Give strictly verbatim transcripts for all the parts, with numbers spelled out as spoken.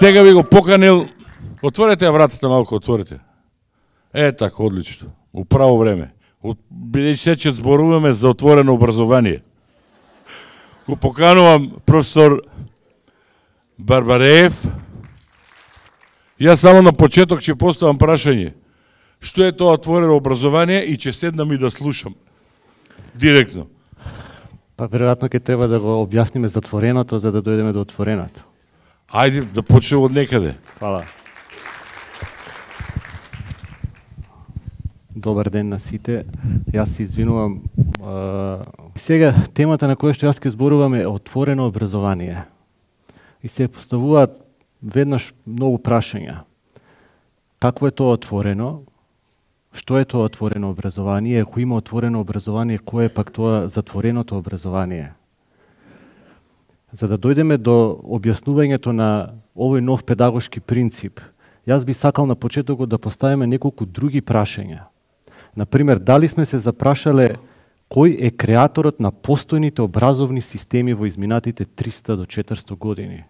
Сега ви го поканил. Отворете вратата малку, отворете. Е, така, одлично. У право време. Бидејќи се че зборуваме за отворено образование. Го поканувам професор Барбареев. Јас само на почеток ќе поставам прашање. Што е тоа отворено образование и ќе седнам и да слушам. Директно. Па веројатно ќе треба да го објасниме затвореното за да дојдеме до отвореното. Ајде да почнеме од некаде. Фала. Добар ден на сите. Јас се извинувам. Сега темата на која што јас ќе зборувам е отворено образование. И се поставуваат веднаш многу прашања. Какво е тоа отворено? Што е тоа отворено образование? Ако има отворено образование, кое е пак тоа затвореното образование? За да дојдеме до објаснувањето на овој нов педагошки принцип, јас би сакал на почетокот да поставиме неколку други прашања. Например, дали сме се запрашале кој е креаторот на постојните образовни системи во изминатите триста до четиристо години?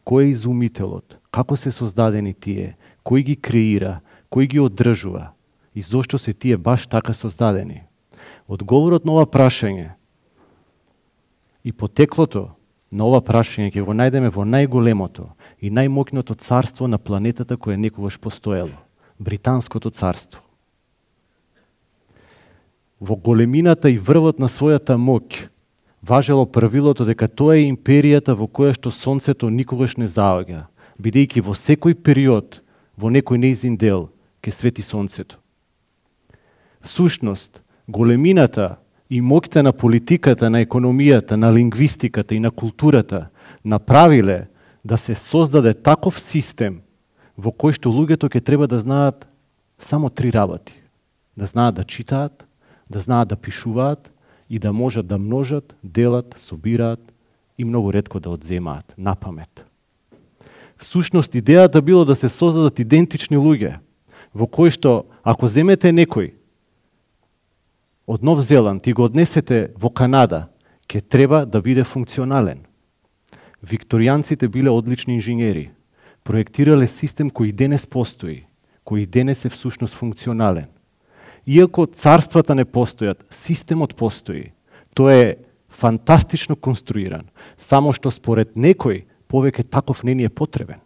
Кој е изумителот? Како се создадени тие? Кој ги креира? Кој ги одржува? И зошто се тие баш така создадени? Одговорот на ова прашање и потеклото на ова прашање ќе го најдеме во најголемото и најмоќното царство на планетата кое некогаш постоело – Британското царство. Во големината и врвот на својата моќ важело правилото дека тоа е империјата во која што сонцето никогаш не заоѓа, бидејќи во секој период, во некој нејзин дел, ќе свети сонцето. Всушност, големината и моќта на политиката, на економијата, на лингвистиката и на културата направиле да се создаде таков систем во кој што луѓето ќе треба да знаат само три работи. Да знаат да читаат, да знаат да пишуваат и да можат да множат, делат, собираат и многу ретко да одземаат на памет. Всушност, идејата било да се создадат идентични луѓе, во кои што, ако земете некој од Нов Зеланд и го однесете во Канада, ќе треба да биде функционален. Викторијанците биле одлични инженери, проектирале систем кој денес постои, кој денес е всушност функционален. Иако царствата не постојат, системот постои. Тој е фантастично конструиран, само што според некој повеќе таков не ни е потребен.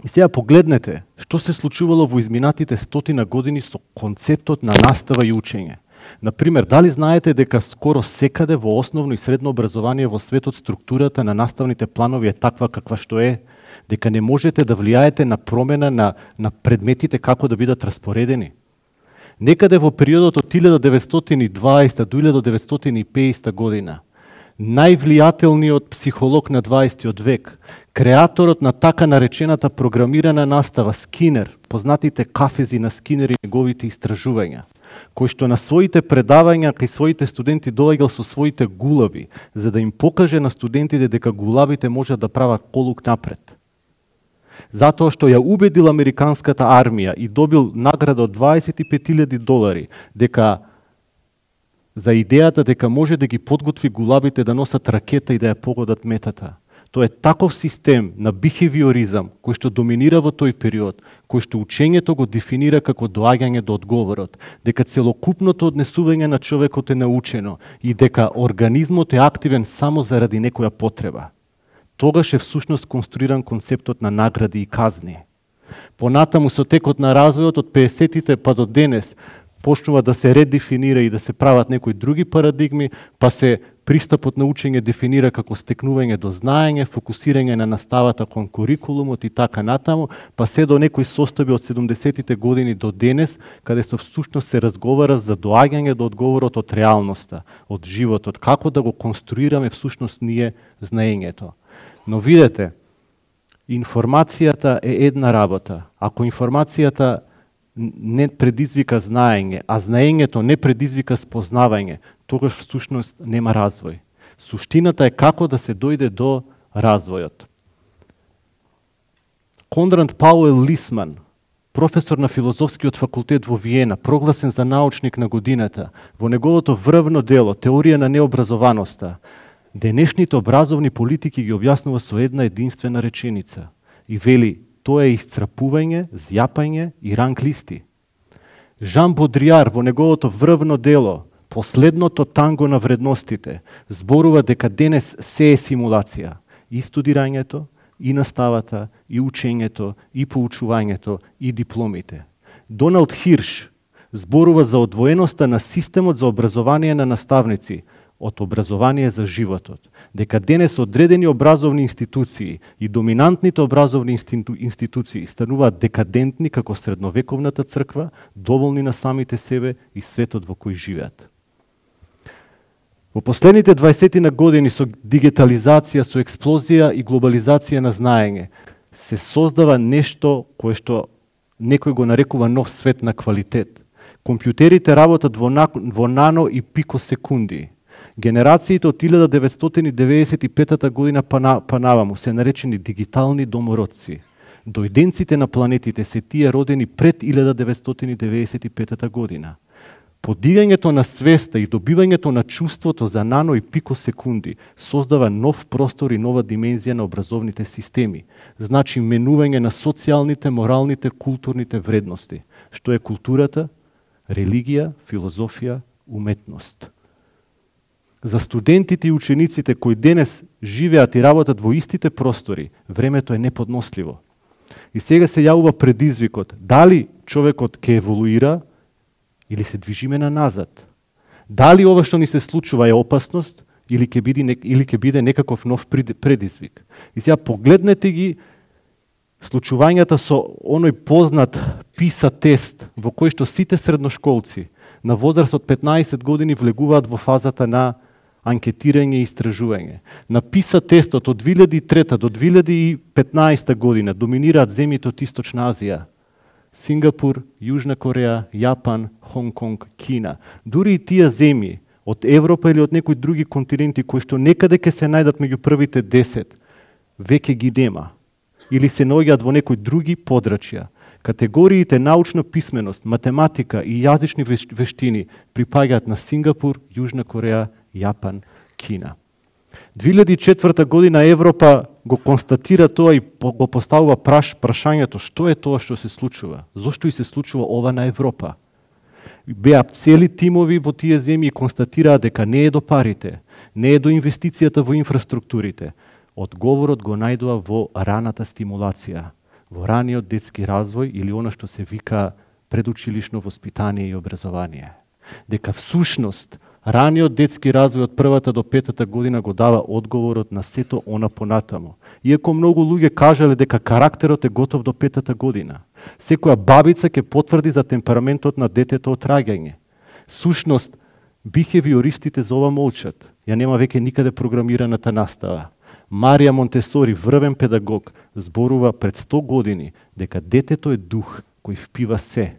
И сега погледнете што се случувало во изминатите стотина години со концептот на настава и учење. Например, дали знаете дека скоро секаде во основно и средно образование во светот структурата на наставните планови е таква каква што е, дека не можете да влијаете на промена на, на предметите како да бидат распоредени? Некаде во периодот од илјада деветстотини и дваесета до илјада деветстотини и пеесета година, највлијателниот психолог на дваесеттиот век, креаторот на така наречената програмирана настава Скинер, познатите кафези на Скинер и неговите истражувања, кој што на своите предавања кај своите студенти доаѓал со своите гулаби, за да им покаже на студентите дека гулабите можат да прават колук напред. Затоа што ја убедил американската армија и добил награда од дваесет и пет илјади долари, дека за идејата дека може да ги подготви гулабите да носат ракета и да ја погодат метата. Тоа е таков систем на бихевиоризам кој што доминира во тој период, кој што учењето го дефинира како доаѓање до одговорот, дека целокупното однесување на човекот е научено и дека организмот е активен само заради некоја потреба. Тогаш е всушност конструиран концептот на награди и казни. Понатаму со текот на развојот од пеесеттите па до денес почнува да се редефинира и да се прават некои други парадигми, па се пристапот на учење дефинира како стекнување до знаење, фокусирање на наставата кон курикулумот и така натаму, па се до некои состојби од седумдесеттите години до денес, каде со всушност се разговара за доаѓање до одговорот од реалноста, од животот, како да го конструираме всушност ние знаењето. Но видете, информацијата е една работа. Ако информацијата не предизвика знаење, а знаењето не предизвика спознавање, тогаш всушност нема развој. Суштината е како да се дојде до развојот. Конрад Пауел Лисман, професор на филозофскиот факултет во Виена, прогласен за научник на годината, во неговото врвно дело Теорија на необразованоста, Денешните образовни политики ги објаснува со една единствена реченица и вели тоа е исцрпување, зјапање и ранг листи. Жан Бодријар во неговото врвно дело Последното танго на вредностите зборува дека денес се е симулација. И студирањето, и наставата, и учењето, и поучувањето, и дипломите. Доналд Хирш зборува за одвоеноста на системот за образование на наставници од образование за животот. Дека денес одредени образовни институции и доминантните образовни институции стануваат декадентни како средновековната црква, доволни на самите себе и светот во кој живеат. Во последните дваесет години со дигитализација, со експлозија и глобализација на знаење, се создава нешто кое што некој го нарекува нов свет на квалитет. Компјутерите работат во, на, во нано и пикосекунди. Генерациите од илјада деветстотини деветдесет и петата година па, на, па наваму се наречени дигитални домородци. Дојденците на планетите се тие родени пред илјада деветстотини деветдесет и петата година. Подигањето на свеста и добивањето на чувството за нано и пикосекунди создава нов простор и нова димензија на образовните системи. Значи менување на социјалните, моралните, културните вредности. Што е културата? Религија, филозофија, уметност. За студентите и учениците кои денес живеат и работат во истите простори, времето е неподносливо. И сега се јавува предизвикот, дали човекот ќе еволуира или се движиме на назад? Дали ова што ни се случува е опасност или ќе биде или ќе биде некаков нов предизвик? И сега погледнете ги случувањата со оној познат PISA тест во кој што сите средношколци на возраст од петнаесет години влегуваат во фазата на анкетирање и истражување. На PISA тестот од две илјади и трета до две илјади и петнаесета година доминираат земјите од Источна Азија. Сингапур, Јужна Кореја, Јапан, Хонг-Конг, Кина. Дури и тие земји од Европа или од некои други континенти кои што некаде ќе се најдат меѓу првите десет, веќе ги нема. Или се наоѓаат во некои други подрачја. Категориите научна писменост, математика и јазични вештини припаѓаат на Сингапур, Јужна Кореја, Јапан, Кина. две илјади и четврта година Европа го констатира тоа и го поставува праш, прашањето што е тоа што се случува, зошто и се случува ова на Европа. Беа цели тимови во тие земји и констатираа дека не е до парите, не е до инвестицијата во инфраструктурите. Одговорот го најдува во раната стимулација, во раниот детски развој или она што се вика предучилишно воспитание и образование. Дека всушност раниот детски развој од првата до петата година го дава одговорот на сето она понатаму. Иако многу луѓе кажале дека карактерот е готов до петата година. Секоја бабица ќе потврди за темпераментот на детето од раѓање. Сушност, бихевиористите за ова молчат. Ја нема веќе никаде програмираната настава. Марија Монтесори, врвен педагог, зборува пред сто години дека детето е дух кој впива се.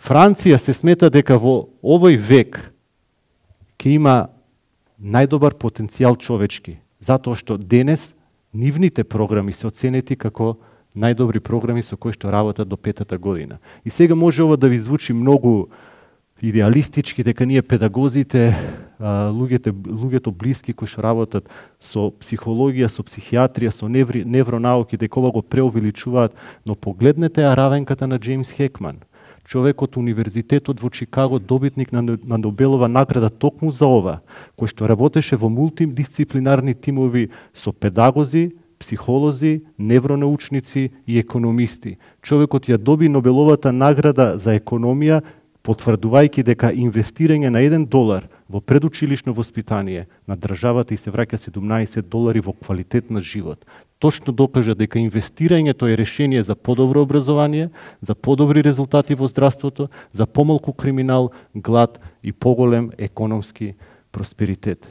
Франција се смета дека во овој век ќе има најдобар потенцијал човечки, затоа што денес нивните програми се оценети како најдобри програми со кои што работат до петата година. И сега може ова да ви звучи многу идеалистички, дека ние педагозите, луѓето, луѓето блиски кои што работат со психологија, со психијатрија, со неври, невронауки, дека ова го преувеличуваат, но погледнете ја равенката на Джеймс Хекман. Човек од Универзитетот во Чикаго, добитник на, на Нобелова награда токму за ова, кој што работеше во мултидисциплинарни тимови со педагози, психолози, невронаучници и економисти. Човекот ја доби Нобеловата награда за економија, потврдувајќи дека инвестирање на еден долар во предучилишно воспитание на државата и се враќа седумнаесет долари во квалитет на живот. Точно докажа дека инвестирањето е решение за подобро образование, за подобри резултати во здравството, за помалку криминал, глад и поголем економски просперитет.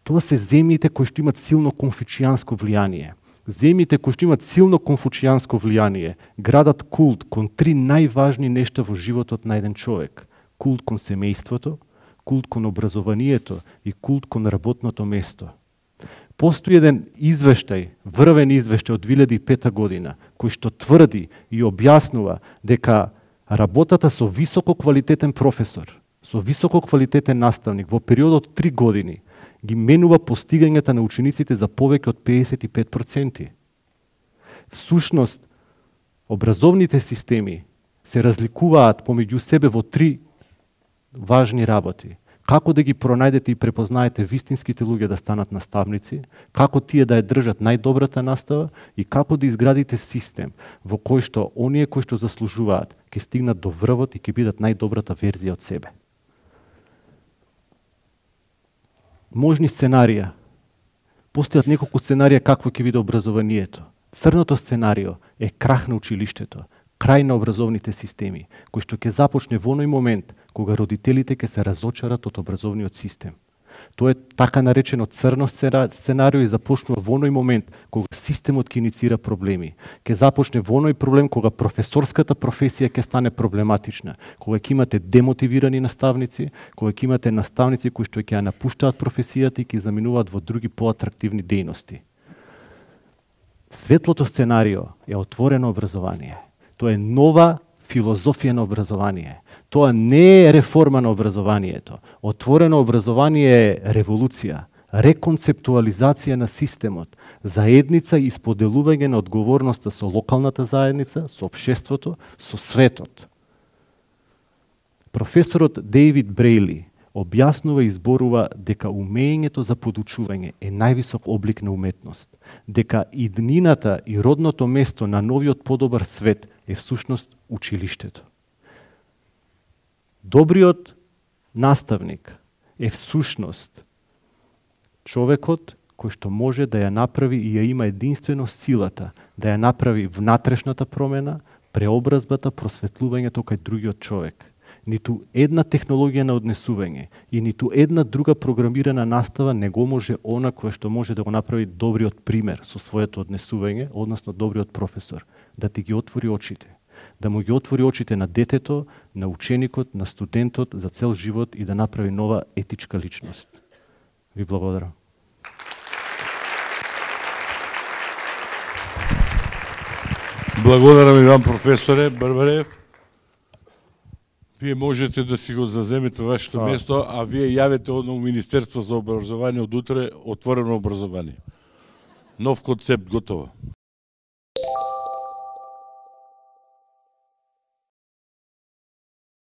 Тоа се земјите кои што имат силно конфуцијанско влијание. Земјите кои што имат силно конфуцијанско влијание градат култ кон три најважни нешта во животот на еден човек. Култ кон семејството, култ кон образованието и култ кон работното место. Постои еден извештај, врвен извештај од две илјади и пета година, кој што тврди и објаснува дека работата со високо квалитетен професор со високо квалитетен наставник во период од три години ги менува постигањата на учениците за повеќе од педесет и пет проценти. Всушност, образовните системи се разликуваат помеѓу себе во три важни работи. Како да ги пронајдете и препознаете вистинските луѓе да станат наставници, како тие да ја држат најдобрата настава и како да изградите систем во кој што оние кои што заслужуваат ќе стигнат до врвот и ќе бидат најдобрата верзија од себе. Можни сценарија. Постојат неколку сценарија какво ќе биде образованието. Црното сценарио е крах на училиштето, крај на образовните системи, кој што ќе започне во оној момент кога родителите ќе се разочарат од образовниот систем. Тоа е така наречено црно сценарио и започнува во оној момент кога системот ќе иницира проблеми. Ќе започне во оној проблем кога професорската професија ќе стане проблематична, кога ќе имате демотивирани наставници, кога ќе имате наставници кои што ќе ја напуштаат професијата и ќе заминуваат во други поатрактивни дејности. Светлото сценарио е отворено образование. Тоа е нова филозофија на образование. Тоа не е реформа на образованието. Отворено образование е револуција, реконцептуализација на системот, заедница и споделување на одговорноста со локалната заедница, со општеството, со светот. Професорот Дейвид Брейли објаснува и изборува дека умењето за подучување е највисок облик на уметност, дека иднината и родното место на новиот подобар свет е всушност училиштето. Добриот наставник е всушност човекот кој што може да ја направи и ја има единствено силата да ја направи внатрешната промена, преобразбата, просветлувањето кај другиот човек. Ниту една технологија на однесување и ниту една друга програмирана настава не го може она кој што може да го направи добриот пример со своето однесување, односно добриот професор, да ти ги отвори очите, да му ги отвори очите на детето, на ученикот, на студентот за цел живот и да направи нова етичка личност. Ви благодарам. Благодарам и вам, професоре Барбареев. Вие можете да си го заземете вашето место, а вие јавете одно Министерство за образование од утре, отворено образование. Нов концепт готово.